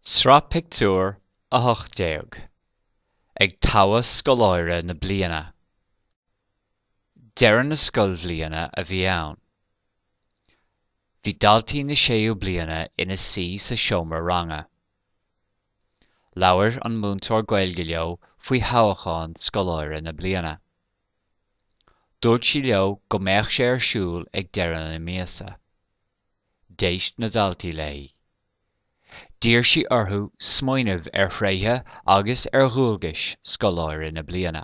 Sraith Pictiúr 18. Ag toghadh Scoláire na Bliana. Deireadh na scoilbhliana a bhí ann. Bhí daltaí na séú bliana ina suí sa seomra ranga. Labhair an múinteoir Gaeilge leo faoi thoghchán Scoláire na Bliana. Dúirt sí leo go mbeadh sé ar siúl ag deireadh na míosa. D'éist na daltaí léi. D'iarr sí orthu smaoineamh ar thréithe agus ar dhualgais Scoláire na Bliana.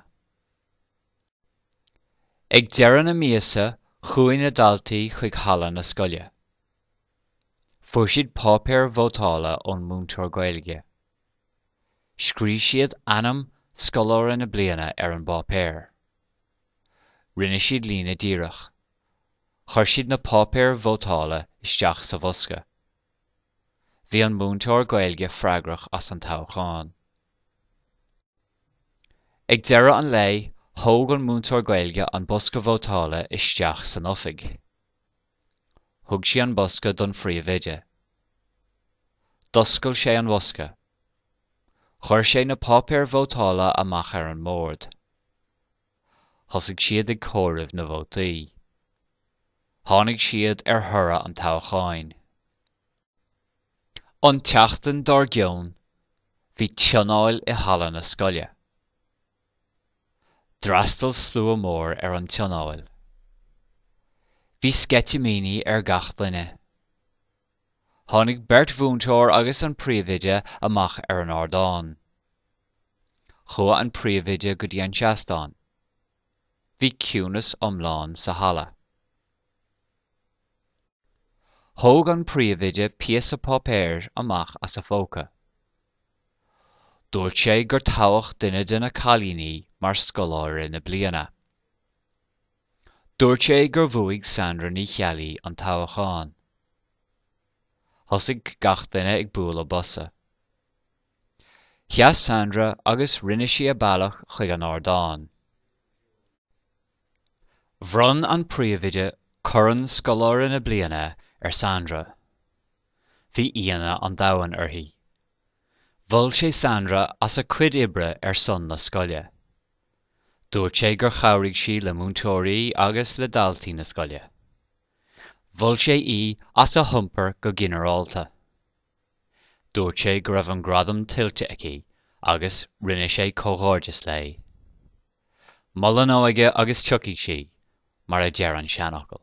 Ag deireadh na míosa chuaigh na daltaí chuig halla na scoile. Fuair siad páipéir vótála ón múinteoir Gaeilge. Scríobh siad ainm Scoláire na Bliana ar an bpáipéar. Rinne siad líne díreach. Chuir siad na páipéir vótála isteach sa bhosca. Bhí an múinteoir Gaeilge freagrach as an toghchán. Ag deireadh an lae, thóg an múinteoir Gaeilge an bosca vótála isteach san oifig. Thug sí an bosca don phríomhoide. D'oscail sé an bosca. Chuir sé na páipéir vótála amach ar an mbord. Thosaigh siad ag comhaireamh na vótaí. Tháinig siad ar thoradh an toghcháin. An tseachtain dár gcionn, bhí tionól i halla na scoile. D'fhreastail slua mór ar an tionól. Bhí sceitimíní ar gach duine. Tháinig beirt mhúinteoir agus an príomhoide amach ar an ardán. Chuaigh an príomhoide go dtí an seastán. Bhí ciúnas iomlán sa halla. Thóg an príomhoide píosa páipéir amach as a phóca. Dúirt sé gur toghadh duine de na cailíní mar Scoláire na Bliana. Dúirt sé gur bhuaigh Sandra Ní Cheallaigh an toghchán. Thosaigh gach duine ag bualadh bosa. Sheas Sandra agus rinne sí a bealach chuig an ardán. Bhronn an príomhoide Corn Scoláire na Bliana ar Sandra. Bhí ionadh an domhain uirthi. Mhol sé Sandra as a cuid oibre ar son na scoile. Dúirt sé gur chabhraigh sí le múinteoirí agus le daltaí na scoile. Mhol sé í as a hiompar go ginearálta. Dúirt sé go raibh an gradam tuillte aici agus rinne sé comhghairdeas léi. Mol an óige agus tiocfaidh sí, mar a deir an seanfhocal.